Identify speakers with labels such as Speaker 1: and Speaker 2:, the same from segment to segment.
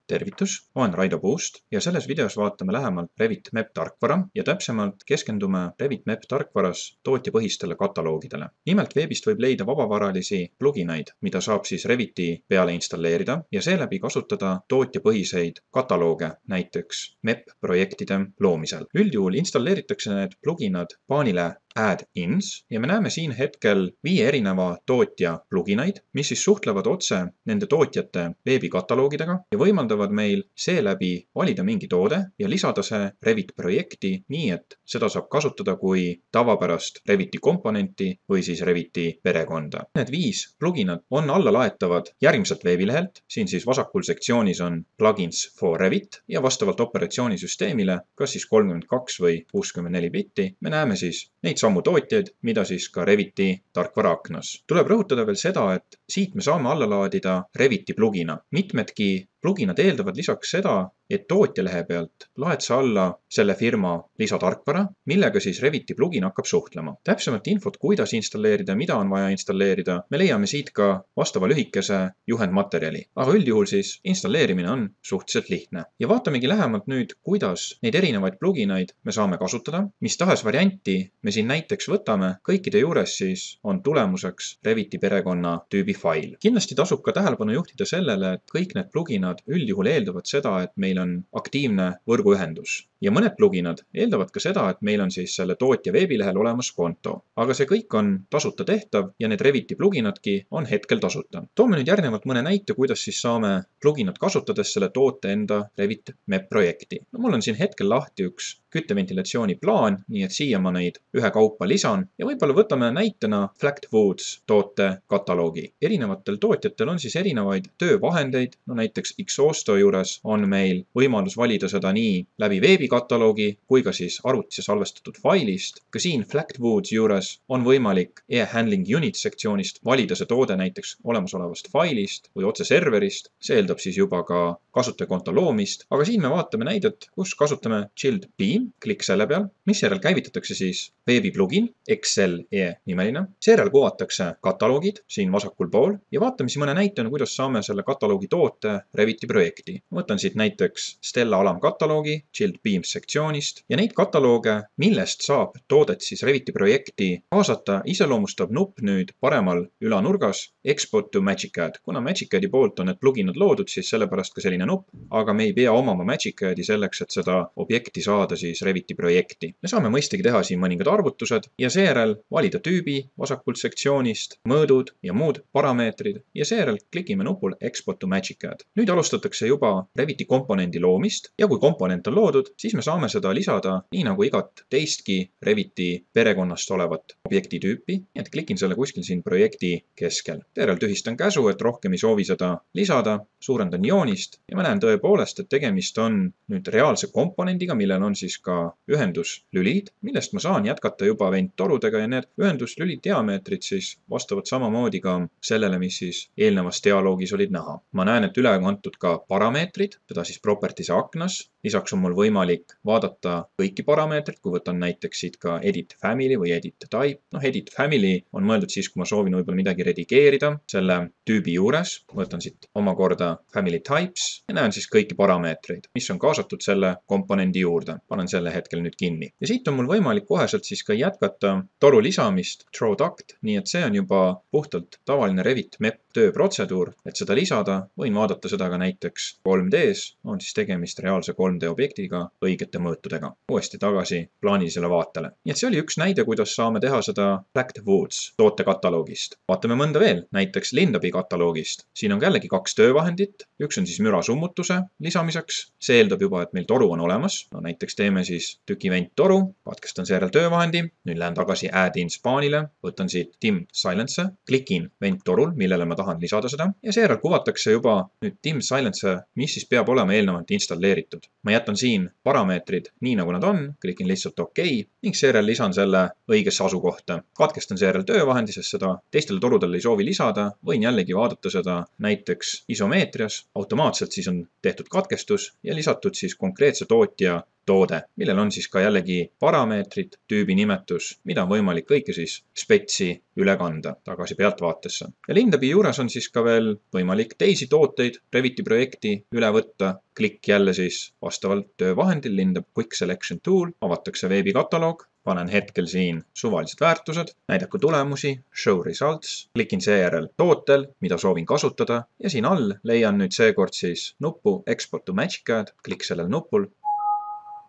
Speaker 1: Tervitus, olen Raido Puust ja selles videos vaatame lähemalt Revit MEP tarkvara ja täpsemalt keskendume Revit MEP tarkvaras tootjapõhistele kataloogidele. Nimelt veebist võib leida vabavaralisi pluginaid, mida saab siis Reviti peale installeerida ja seeläbi kasutada tootjapõhiseid katalooge, näiteks MEP projektide loomisel. Üldjuhul installeeritakse need pluginad paanile Add-ins ja me näeme siin hetkel 5 erineva tootja pluginaid, mis siis suhtlevad otse nende tootjate veebikataloogidega ja võimaldavad meil seeläbi valida mingi toode ja lisada see Revit projekti nii, et seda saab kasutada kui tavapärast Reviti komponenti või siis Reviti perekonda. Need 5 pluginad on allalaetavad järgmiselt veebilehelt. Siin siis vasakul sektsioonis on Plugins for Revit ja vastavalt operatsioonisüsteemile, kas siis 32 või 64 bitti, me näeme siis neid samu tootjaid, mida siis ka Reviti tarkvara aknas. Tuleb rõhutada veel seda, et siit me saame alla laadida Reviti plugina. Mitmedki pluginad eeldavad lisaks seda, et tootjalehe pealt laed sa alla selle firma lisatarkvara, millega siis Reviti plugin hakkab suhtlema. Täpsemalt infot, kuidas installeerida, mida on vaja installeerida, me leiame siit ka vastava lühikese juhendmaterjali. Aga üldjuhul siis installeerimine on suhteliselt lihtne. Ja vaatamegi lähemalt nüüd, kuidas neid erinevaid pluginaid me saame kasutada. Mis tahes varianti me siin näiteks võtame, kõikide juures siis on tulemuseks Reviti perekonna tüübi fail. Kindlasti tasub ka tähelepanu juhtida sellele, et kõik need pluginad üldjuhul eeldavad seda, et meil on aktiivne võrguühendus. Ja mõned pluginad eeldavad ka seda, et meil on siis selle tootja veebilehel olemas konto. Aga see kõik on tasuta tehtav ja need Reviti pluginadki on hetkel tasuta. Toome nüüd järgnevalt mõne näite, kuidas siis saame pluginat kasutades selle toote enda Revit MEP projekti. Mul on siin hetkel lahti üks kütteventilatsiooni plaan, nii et siia ma neid ühekaupa lisan ja võib-olla võtame näitena Flat Woods toote kataloogi. Erinevatel tootjatel on siis erinevaid töövahendeid, näiteks Xhosto juures on meil võimalus valida seda nii läbi veebikataloogi kui ka siis arvutisse salvestatud failist. Ka siin Flat Woods juures on võimalik e-handling unit sektsioonist valida see toode näiteks olemasolevast failist või otse serverist. See eeldab siis juba ka kasutajakonto loomist, aga siin me vaatame näidet, kus kasutame Chilled Beam, klikk selle peal, misjärel käivitatakse siis veebiplugin, XLE nimeline. Seejärel kuvatakse kataloogid siin vasakul pool ja vaatame siis mõne näitena, kuidas saame selle kataloogi toote Reviti projekti. Võtan siit näiteks Stella alamkataloogi Chilled Beams sektsioonist ja neid katalooge, millest saab toodet siis Reviti projekti kaasata, iseloomustab nupp nüüd paremal ülanurgas Export to MagicCAD. Kuna MagicCADi poolt on need pluginad loodud, siis sellepärast ka selline nupp, aga me ei pea omama MagicCADi selleks, et seda objekti saada siis Reviti projekti. Me saame mõistagi teha siin mõningad arvutused ja seejärel valida tüübi vasakult sektsioonist, mõõdud ja muud parameetrid ja seejärel klikime nupul Export to MagicCAD. Nüüd alustatakse juba Reviti komponendi loomist ja kui komponent on loodud, siis me saame seda lisada nii nagu igat teistki Reviti perekonnast olevat objekti tüüpi, nii et klikin selle kuskil siin projekti keskel. Seejärel tühistan käsu, et rohkem ei soovi seda lisada, suurendan joonist ja ma näen tõepoolest, et tegemist on nüüd reaalse komponendiga, millel on siis ka ühenduslülid, millest ma saan jätkata juba venttorudega ja need ühenduslüli diameetrid siis vastavad samamoodi ka sellele, mis siis eelnevas dialoogis olid näha. Ma näen, et üle on antud ka parameetrid, seda siis properties'e aknas. Lisaks on mul võimalik vaadata kõiki parameetrid, kui võtan näiteks siit ka Edit Family või Edit Type. Edit Family on mõeldud siis, kui ma soovin võib-olla midagi redigeerida selle tüübi juures. Võtan siit omakorda Family Types ja näen siis kõiki parameetreid, mis on kaasatud selle komponendi juurde. Panen selle hetkel nüüd kinni. Ja siit on mul võimalik koheselt siis ka jätkata toru lisamist Drawduct, nii et see on juba puhtalt tavaline Revit MEP tööprotseduur, et seda lisada. Võin vaadata seda ka näiteks 3D-s, on siis tegemist reaalse 3D objektiga õigete mõõtudega. Uuesti tagasi plaanilisele vaatele. Nii et see oli üks näide, kuidas saame teha seda Flat Woods toote kataloogist. Vaatame mõnda veel, näiteks Lindabi kataloogist. Siin on jällegi 2 töövahendit. Üks on siis müra summutuse lisamiseks. See eeldab juba, et meil toru on olemas. Näiteks teeme siis tüki venttoru, katkestan seejärel töövahendi. Nüüd lähen tagasi Add-ins paanile, võtan siit Dim Silence, klikin venttorul, millele ma tahan lisada seda ja seejärel kuvatakse juba nüüd Dim Silence, mis siis peab olema eelnevalt installeeritud. Ma jätan siin parameetrid nii nagu nad on, klikin lihtsalt OK ning seejärel lisan selle õigesse asukohta. Katkestan seejärel töövahendi, sest seda teistele torudele ei soovi lisada. Võin jällegi vaadata seda näiteks isomeetrias. Automaatselt siis on tehtud katkestus ja lisatud siis konkreetse tootja toode, millel on siis ka jällegi parameetrid, tüübi nimetus, mida on võimalik kõike siis spetsi üle kanda tagasi pealtvaatesse. Ja Lindabi juures on siis ka veel võimalik teisi tooteid Reviti projekti üle võtta. Klikk jälle siis vastavalt töövahendil Lindab Quick Selection Tool, avatakse veebikataloog, panen hetkel siin suvalised väärtused, näidaku tulemusi, show results, klikin seejärel tootel, mida soovin kasutada ja siin all leian nüüd seekord siis nupu Export to MagicCAD, klikk sellel nupul,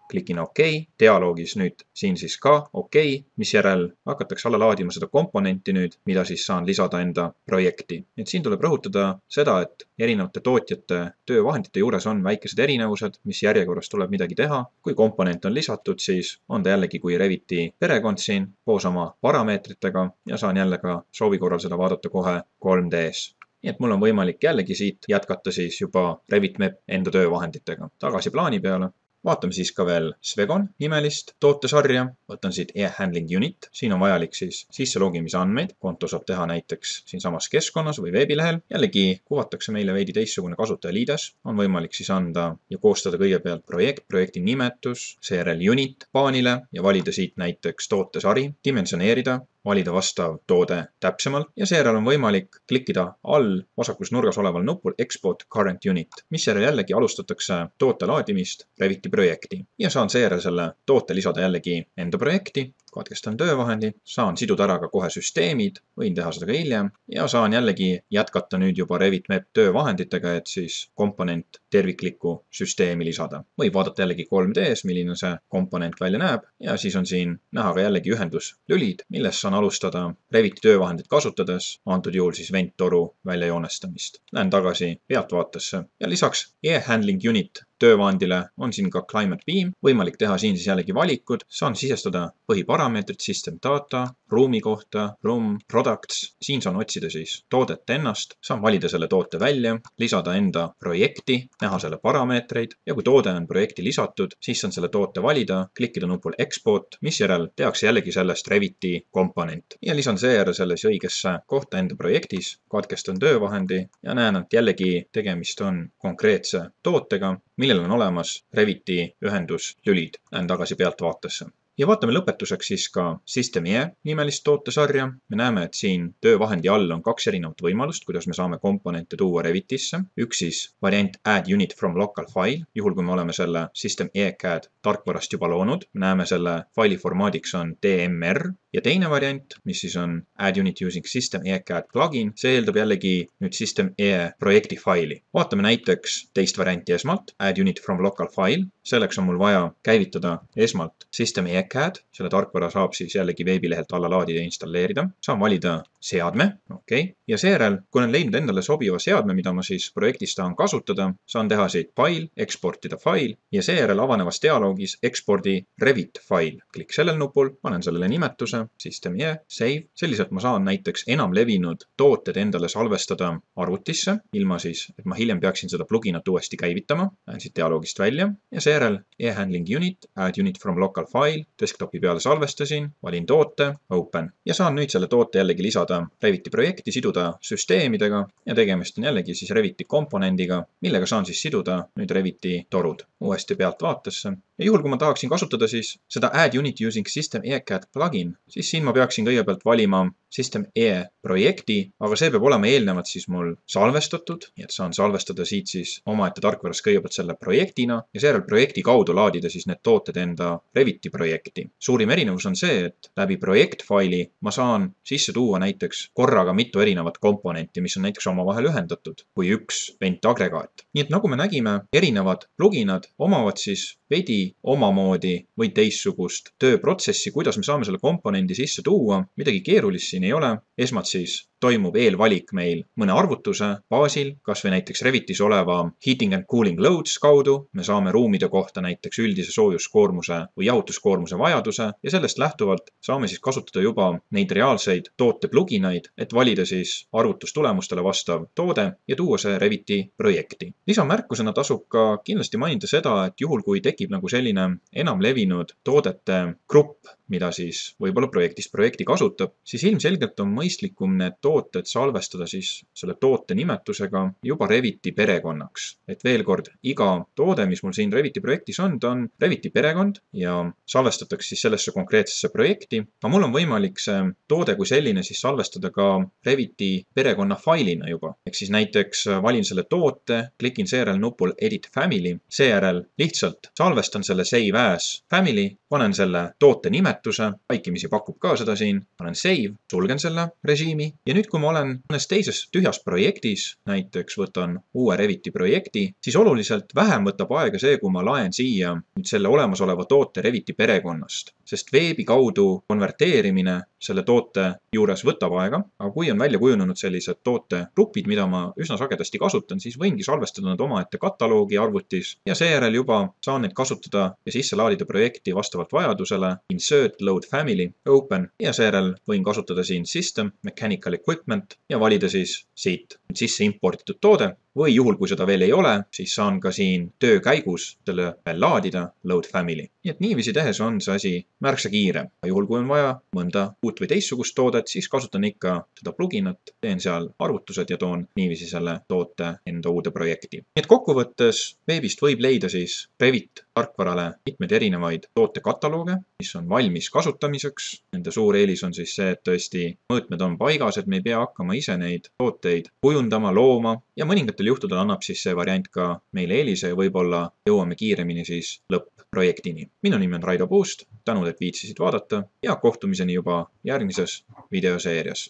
Speaker 1: klikin OK, dialoogis nüüd siin siis ka OK, misjärel hakatakse alla laadima seda komponenti nüüd, mida siis saan lisada enda projekti. Et siin tuleb rõhutada seda, et erinevate tootjate töövahendite juures on väikesed erinevused, mis järjekorras tuleb midagi teha. Kui komponent on lisatud, siis on ta jällegi kui Reviti perekond siin koos oma parameetritega ja saan jälle ka soovi korral seda vaadata kohe 3D-s. Nii et mul on võimalik jällegi siit jätkata siis juba Revit Map enda töövahenditega. Tagasi plaani peale. Vaatame siis ka veel Svegon nimelist tootesarja. Võtan siit e-handling unit. Siin on vajalik siis sisselogimise andmeid. Konto saab teha näiteks siinsamas keskkonnas või veebilehel. Jällegi kuvatakse meile veidi teistsugune kasutajaliides. On võimalik siis anda ja koostada kõigepealt projekt, projekti nimetus, seejärel unit paanile ja valida siit näiteks tootesari, dimensioneerida, valida vastav toode täpsemalt ja seejärel on võimalik klikkida all vasakus nurgas oleval nupul Export Current Unit, mis järel jällegi alustatakse toote laadimist Reviti projekti ja saan seejärel selle toote lisada jällegi enda projekti, katkestan töövahendi, saan siduda ära ka kohe süsteemid, võin teha seda ka hiljem ja saan jällegi jätkata nüüd juba Revit Map töövahenditega, et siis komponent terviklikku süsteemi lisada. Võib vaadata jällegi 3D-s, milline see komponent välja näeb ja siis on siin näha ka jällegi ühenduslülid, millest saan alustada Reviti töövahendit kasutades, antud juhul siis venttoru väljajoonestamist. Lähen tagasi pealtvaatesse ja lisaks e-handling unit töövahendile on siin ka Climate Beam, võimalik teha siin siis jällegi valikud, saan sisestada põhiparameetrid, system data, ruumi kohta, room, products, siin saan otsida siis toodet ennast, saan valida selle toote välja, lisada enda projekti, näha selle parameetreid ja kui toode on projekti lisatud, siis saan selle toote valida, klikkida nupul export, misjärel tehakse jällegi sellest Reviti komponent ja lisan seejärel selle õigesse kohta enda projektis, katkestan töövahendi ja näen, et jällegi tegemist on konkreetse tootega, millel on olemas Reviti ühenduslülid. Lähen tagasi pealtvaatesse. Ja vaatame lõpetuseks siis ka System.ie nimelist tootesarja. Me näeme, et siin töövahendi all on kaks erinevat võimalust, kuidas me saame komponente tuua Revitisse. Üks siis variant Add Unit from Local File, juhul kui me oleme selle System.ie CAD tarkvarast juba loonud. Me näeme selle faili formaadiks on DMR ja teine variant, mis siis on Add Unit using System.ie CAD plugin, see eeldab jällegi nüüd System.ie projekti faili. Vaatame näiteks teist varianti esmalt, Add Unit from Local File. Selleks on mul vaja käivitada esmalt System.ie CAD, selle tarkvara saab siis jällegi veebilehelt alla laadida ja installeerida. Saan valida seadme, ja seejärel, kui olen leidnud endale sobiva seadme, mida ma siis projektis tahan kasutada, saan teha siit fail, eksportida fail ja seejärel avanevas dialoogis ekspordi Revit fail. Klikk sellel nupul, panen sellele nimetuse, System.ie, save. Selliselt ma saan näiteks enam levinud tooted endale salvestada arvutisse, ilma siis, et ma hiljem peaksin seda pluginat uuesti käivitama. Lähen siit dialoogist välja ja seejärel e-handling unit, add unit from local file, desktopi peale salvestasin, valin toote, open ja saan nüüd selle toote jällegi lisada Reviti projekti, siduda süsteemidega ja tegemist on jällegi siis Reviti komponendiga, millega saan siis siduda nüüd Reviti torud uuesti pealtvaatesse. Ja juhul, kui ma tahaksin kasutada siis seda Add Unit Using System.ie CAD plugin, siis siin ma peaksin kõigepealt valima System.ie projekti, aga see peab olema eelnevalt siis mul salvestatud, nii et saan salvestada siit siis omaette tarkvaras kõigepealt selle projektina ja seejärel projekti kaudu laadida siis need tooted enda Reviti projekti. Suurim erinevus on see, et läbi projektfaili ma saan sisse tuua näiteks korraga mitu erinevat komponenti, mis on näiteks omavahel ühendatud kui üks ventagregaat. Nii et nagu me nägime, erinevad pluginad omavad siis veidi omamoodi või teissugust tööprotsessi, kuidas me saame selle komponendi sisse tuua. Midagi keerulist siin ei ole. Esmalt siis toimub eelvalik meil mõne arvutuse baasil, kas või näiteks Revitis oleva heating and cooling loads kaudu. Me saame ruumide kohta näiteks üldise soojuskoormuse või jahutuskoormuse vajaduse ja sellest lähtuvalt saame siis kasutada juba neid reaalseid toote pluginaid, et valida siis arvutustulemustele vastav toode ja tuua see Reviti projekti. Lisamärkusena tasub ka kindlasti mainida seda, et juhul kui tekib nagu selline enam levinud toodete grupp, mida siis võib-olla projektist projekti kasutab, siis ilmselgelt on mõistlikum need tooted salvestada siis selle toote nimetusega juba Reviti perekonnaks. Et veel kord, iga toode, mis mul siin Reviti projektis on, ta on Reviti perekond ja salvestatakse siis sellesse konkreetsesse projekti. Aga mul on võimalik see toode kui selline siis salvestada ka Reviti perekonna failina juba. Ehk siis näiteks valin selle toote, klikin seejärel nupul Edit Family, seejärel lihtsalt salvestan selle Save as Family, panen selle toote nimetuse, vaikimisi pakub ka seda siin, panen Save, sulgen selle režiimi ja nüüd, kui ma olen mõnes teises tühjas projektis, näiteks võtan uue Reviti projekti, siis oluliselt vähem võtab aega see, kui ma laen siia nüüd selle olemasoleva toote Reviti perekonnast, sest veebi kaudu konverteerimine selle toote juures võtab aega, aga kui on välja kujunenud sellised tootegrupid, mida ma üsna sagedasti kasutan, siis võingi salvestada nad omaette kataloogi arvutis ja seejärel juba saan neid kasutada ja sisse laadida projekti vastavalt vajadusele, Insert, Load Family, Open ja seejärel võin kasutada siin System, Mechanical Equipment ja valida siis siit sisse importitud toode või juhul, kui seda veel ei ole, siis saan ka siin töö käigus selle veel laadida, Load Family. Nii et niiviisi tehes on see asi märksa kiirem. Juhul, kui on vaja mõnda uut või teistsugust toodet, siis kasutan ikka seda pluginat, teen seal arvutused ja toon niiviisi selle toote enda uude projekti. Nii et kokkuvõttes veebist võib leida siis Revit tarkvarale mitmeid erinevaid tootekataloge, mis on valmis kasutamiseks. Nende suur eelis on siis see, et tõesti mõõtmed on paigas, et me ei pea hakkama ise neid tooteid kujundama, looma ja mõningatel juhtudel annab siis see variant ka meile eelise ja võib-olla jõuame kiiremini siis lõpp-projektini. Minu nimi on Raido Puust, tänud, et viitsisid vaadata ja kohtumiseni juba järgmises videoseerias.